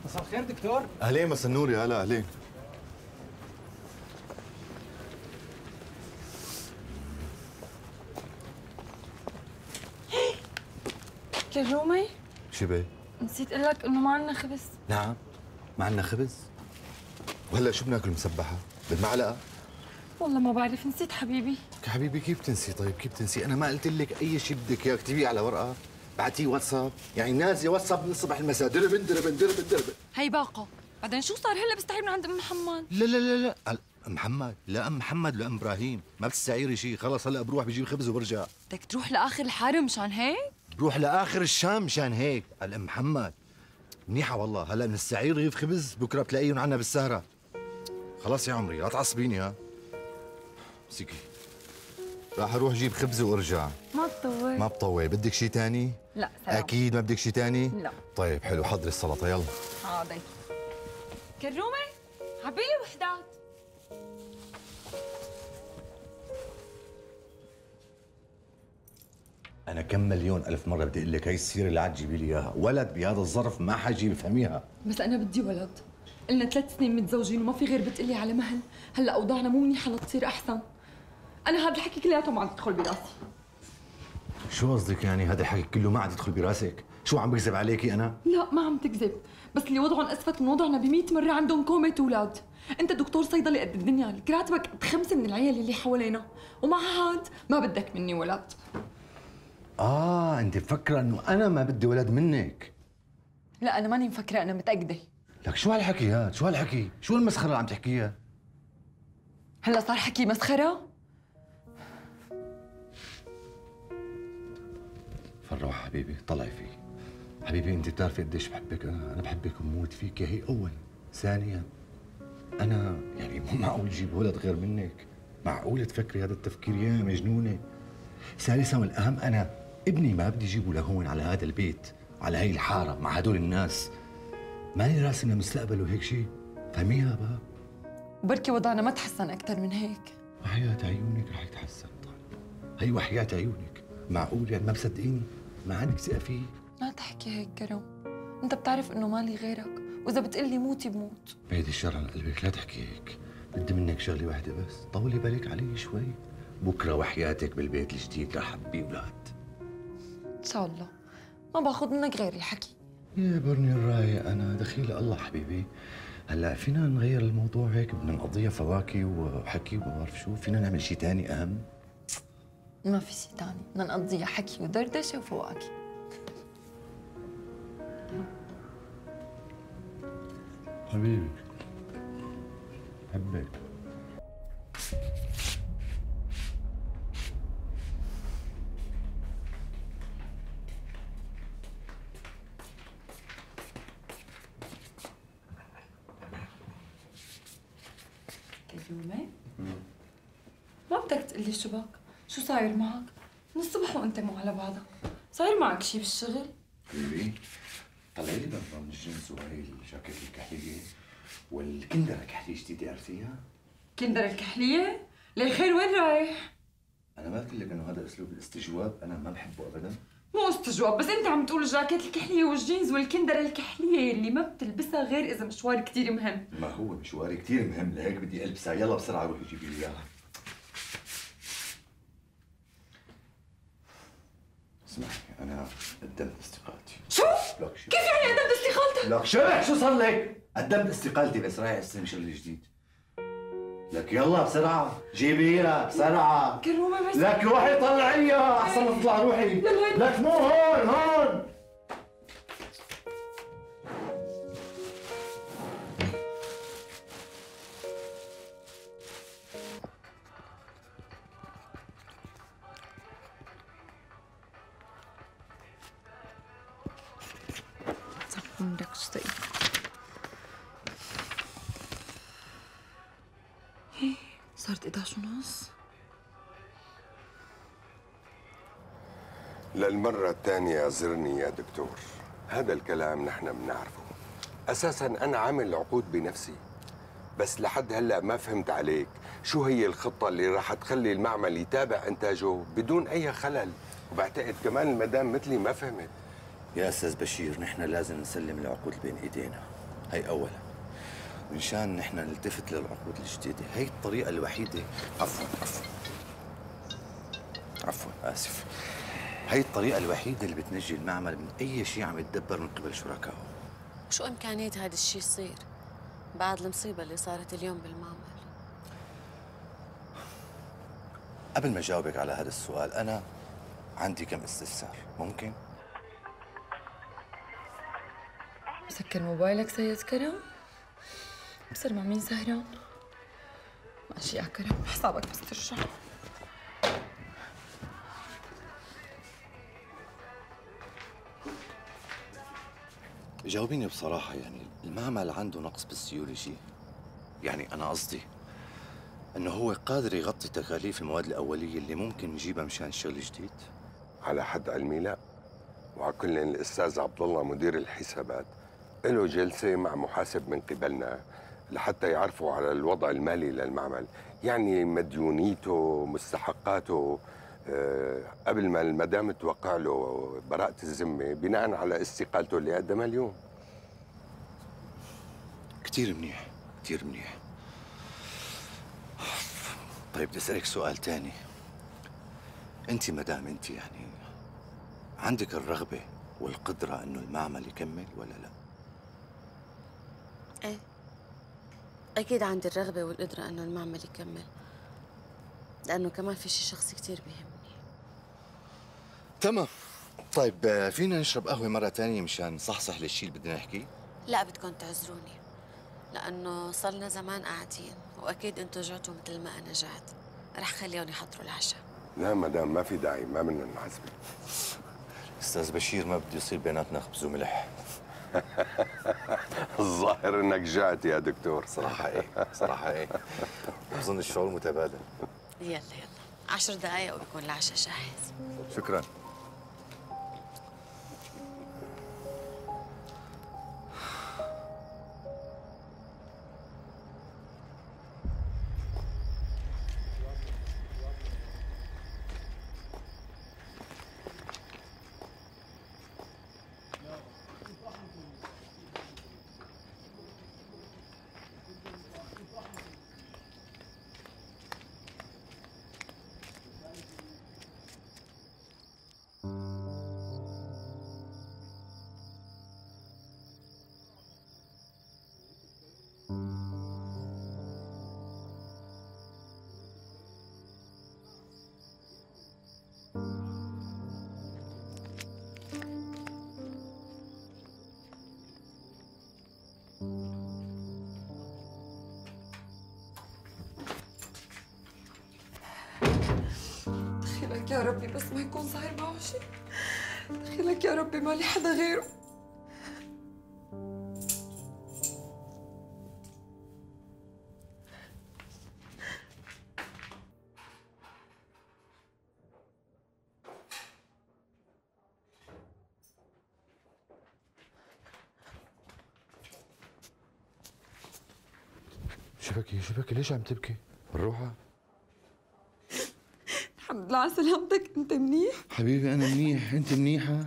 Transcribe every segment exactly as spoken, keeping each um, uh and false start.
مساء الخير دكتور. اهلين مساء النور، يا هلا اهلين. كرومي، شو بيه؟ نسيت اقول لك انه ما عندنا خبز. نعم، ما عندنا خبز؟ وهلا شو بناكل مسبحة؟ بالمعلقة؟ والله ما بعرف، نسيت حبيبي. يا حبيبي كيف تنسي؟ طيب كيف تنسي؟ أنا ما قلت لك أي شيء بدك إياه اكتبيه على ورقة، بعتيه واتساب، يعني نازلة واتساب من الصبح المساء، دربن دربن دربن دربن. هي باقة، بعدين شو صار هلا بستعير من عند ام محمد؟ لا لا لا لا، ام محمد، لا ام محمد ولا ام ابراهيم، ما بتستعيري شيء، خلص هلا بروح بجيب خبز وبرجع. بدك تروح لاخر الحاره مشان هيك؟ بروح لاخر الشام مشان هيك، الام محمد. منيحة والله، هلا بنستعير رغيف خبز، بكره بتلاقيهم عنا بالسهرة. خلاص يا عمري لا تعصبيني ها. مسكي. راح اروح اجيب خبز وارجع. ما تطول. ما بطول، بدك شيء ثاني؟ لا سلام. اكيد ما بدك شيء ثاني؟ لا. طيب حلو، حضري السلطة يلا. حاضر. كرومي، عبيلي وحدات. أنا كم مليون ألف مرة بدي أقول لك هي السيرة اللي عاد تجيبي لي إياها، ولد بهذا الظرف ما حجي بفهميها. بس أنا بدي ولد، قلنا ثلاث سنين متزوجين وما في غير بتقلي على مهل، هلا أوضاعنا مو منيحة لتصير أحسن. أنا هذا الحكي كلياته ما عم يدخل براسي. شو قصدك يعني هذا الحكي كله ما عاد يدخل براسك؟ شو عم بكذب عليكي أنا؟ لا ما عم تكذب، بس اللي وضعهم أسفت من وضعنا بمئة مرة عندهم كومة أولاد. أنت دكتور صيدلي قد الدنيا، لك راتبك قد خمسة من العيال اللي حوالينا، ومع هاد ما بدك مني ولد. آه أنت مفكرة إنه أنا ما بدي ولد منك؟ لا أنا ماني مفكرة، أنا متأكدة. لك شو هالحكي هاد؟ شو هالحكي؟ شو المسخرة اللي عم تحكيها؟ هلا صار حكي مسخرة؟ فروح حبيبي، طلعي فيه. حبيبي أنت بتعرفي قديش بحبك أنا، أنا بحبك وبموت فيك، هي أولا. ثانيا أنا يعني مو معقول جيب ولد غير منك، معقول تفكري هذا التفكير يا مجنونة؟ ثالثا والأهم أنا ابني ما بدي جيبه لهون على هذا البيت، على هي الحارة مع هدول الناس. ماني راسم لمستقبله هيك شيء، فهميها بقى. وبركي وضعنا ما تحسن أكثر من هيك. وحياة عيونك رح يتحسن طالب، هي وحياة عيونك، معقول يعني ما مصدقيني؟ ما عندك ثقة فيه؟ ما تحكي هيك كرم، أنت بتعرف إنه مالي غيرك، وإذا بتقلي موتي بموت. بعيد الشر عن قلبك، لا تحكي هيك، بدي منك شغلة واحدة بس، طولي بالك علي شوي، بكرة وحياتك بالبيت الجديد رح أبي أولاد. إن شاء الله، ما باخذ منك غير الحكي. يا برني الرايق أنا دخيل الله حبيبي. هلا فينا نغير الموضوع هيك، بدنا نقضيها فواكه وحكي وما بعرف شو، فينا نعمل شيء ثاني أهم؟ ما في شيء ثاني، بدنا نقضيها حكي ودردشة وفواكه. حبيبي حبك. كريمة؟ ما بدك تقلي شو بك؟ شو صاير معك؟ من الصبح وانت مو على بعضك، صاير معك شي بالشغل؟ حبيبي طلعي لي بنطلون الجينز وهي الجاكيت الكحلية والكندرة الكحلية جديدة عرفتيها؟ كندر الكحلية؟ ليه خير وين رايح؟ أنا ما قلت لك إنه هذا أسلوب الاستجواب أنا ما بحبه أبداً؟ مو استجواب، بس انت عم تقول الجاكيت الكحلية والجينز والكندرة الكحلية اللي ما بتلبسها غير إذا مشوار كثير مهم. ما هو مشواري كثير مهم، لهيك بدي ألبسها، يلا بسرعة روحي جيبي لي إياها. اسمعي أنا قدمت استقالتي. شو؟ كيف يعني قدمت استقالتك؟ لك شرح شو صار لك؟ قدمت استقالتي بس رايح استلم شغل جديد. لك يلا بسرعة جيبي لها بسرعة. كرومة بس لك روحي طلعيها أحسن ما تطلع روحي. لك مو هون هون. عمرك شطي. هي صارت إحدى عشر ونص. للمرة الثانية زرني يا دكتور. هذا الكلام نحن بنعرفه. أساساً أنا عامل عقود بنفسي، بس لحد هلأ ما فهمت عليك شو هي الخطة اللي راح تخلي المعمل يتابع إنتاجه بدون أي خلل، وبعتقد كمان المدام مثلي ما فهمت. يا أستاذ بشير نحن لازم نسلم العقود بين إيدينا، هي اولا، مشان نحن نلتفت للعقود الجديده، هي الطريقه الوحيده. عفوا عفوا عفوا اسف. هي الطريقه الوحيده اللي بتنجي المعمل من اي شيء عم يتدبر من قبل شركائه. شو امكانيه هذا الشيء يصير بعد المصيبه اللي صارت اليوم بالمعمل؟ قبل ما اجاوبك على هذا السؤال، انا عندي كم استفسار، ممكن؟ مسكر موبايلك سيد كرم؟ بصير مع مين سهران؟ ماشي يا كرم، حسابك بس ترجع. جاوبيني بصراحة، يعني المعمل عنده نقص بالسيولوجي؟ يعني أنا قصدي إنه هو قادر يغطي تكاليف المواد الأولية اللي ممكن نجيبها مشان الشغل الجديد؟ على حد علمي لا. وعلى كل الاستاذ عبد الله مدير الحسابات له جلسه مع محاسب من قبلنا لحتى يعرفوا على الوضع المالي للمعمل، يعني مديونيته، مستحقاته، أه قبل ما المدام توقع له براءة الذمة بناء على استقالته اللي قدمها اليوم. كتير منيح، كتير منيح. طيب بدي أسألك سؤال تاني. أنت مدام أنت يعني عندك الرغبة والقدرة إنه المعمل يكمل ولا لا؟ ايه اكيد عندي الرغبه والقدره انه المعمل يكمل، لانه كمان في شيء شخصي كثير بيهمني. تمام. طيب فينا نشرب قهوة مرة تانية مشان نصحصح للشيء اللي بدنا نحكيه؟ لا بدكم تعذروني، لانه صرنا زمان قاعدين واكيد انتم جعتوا مثل ما انا جعت. رح خليهم يحضروا العشاء. لا مدام ما في داعي، ما بدنا نعذبك. استاذ بشير ما بده يصير بيناتنا خبز وملح. الظاهر انك جعت يا دكتور. صراحة ايه، صراحة ايه. بظن الشعور متبادل. يلا يلا عشر دقايق وبكون العشاء جاهز. شكرا. دخيلك يا ربي بس ما يكون صاير معه شيء. دخيلك يا ربي ما لي حدا غيره. شبكي شبكي ليش عم تبكي؟ بالروحة؟ الحمد لله على سلامتك، انت منيح؟ حبيبي أنا منيح، أنت منيحة؟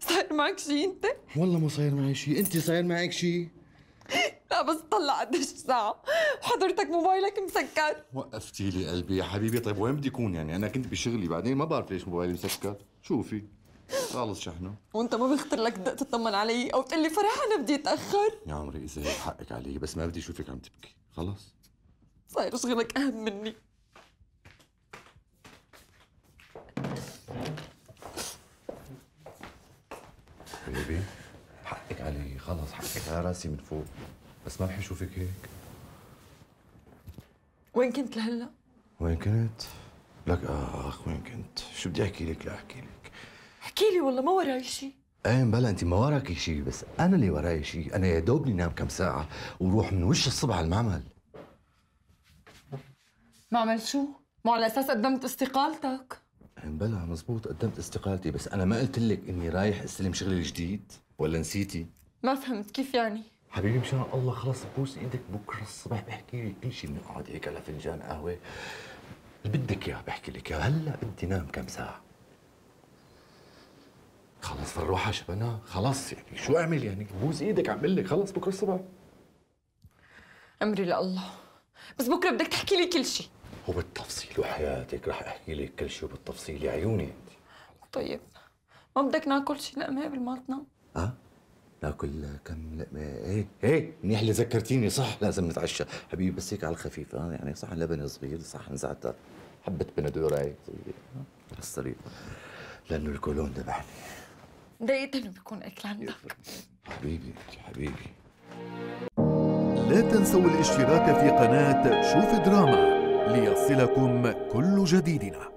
صاير معك شيء انت؟ والله مو صاير معي شيء، أنت صاير معك شيء؟ لا بس طلع قديش الساعة وحضرتك موبايلك مسكر. وقفتي لي قلبي يا حبيبي. طيب وين بدي أكون يعني؟ أنا كنت بشغلي، بعدين ما بعرف ليش موبايلي مسكر. شوفي خالص شحنه. وانت ما بيخطر لك تدق تطمن علي او تقول لي فرح انا بدي اتاخر؟ يا عمري إذا هيك حقك علي، بس ما بدي أشوفك عم تبكي، خلص؟ صاير شغلك اهم مني. حبيبي حقك علي، خلص حقك على راسي من فوق، بس ما بحب اشوفك هيك. وين كنت لهلا؟ وين كنت؟ لك اخ وين كنت؟ شو بدي احكي لك؟ لا احكي لك. احكي لي والله ما وراي شيء. ايه بلا انت ما وراكي شيء، بس انا اللي وراي شيء. انا يا دوبني نام كم ساعة وروح من وش الصبح على المعمل. معمل شو؟ مو على اساس قدمت استقالتك؟ ايه بلا مزبوط قدمت استقالتي، بس انا ما قلت لك اني رايح استلم شغلي الجديد ولا نسيتي؟ ما فهمت كيف يعني؟ حبيبي مشان الله خلص بوس ايدك، بكره الصبح بحكي لك كل شيء. بنقعد هيك على فنجان قهوه اللي بدك اياه بحكي لك اياه. هلا بدي نام كم ساعه. خلص فروحه شبنا، خلص يعني شو اعمل يعني؟ بوس ايدك عم بقول لك خلص بكره الصبح. امري لله، بس بكره بدك تحكي لي كل شيء. وبالتفصيل وحياتك رح احكي لك كل شيء وبالتفصيل يا عيوني انت. طيب ما بدك ناكل شيء لقمه قبل ما تنام؟ اه ناكل كم لقمه؟ ايه ايه منيح اللي ذكرتيني، صح لازم نتعشى حبيبي، بس هيك على الخفيف اه يعني صحن لبن صغير، صحن زعتر، حبه بندوره هيك صغيره على السريع لانه الكولون ذبحني. ضايقت انه بيكون اكل عندك. حبيبي حبيبي. لا تنسوا الاشتراك في قناة شوف دراما ليصلكم كل جديدنا.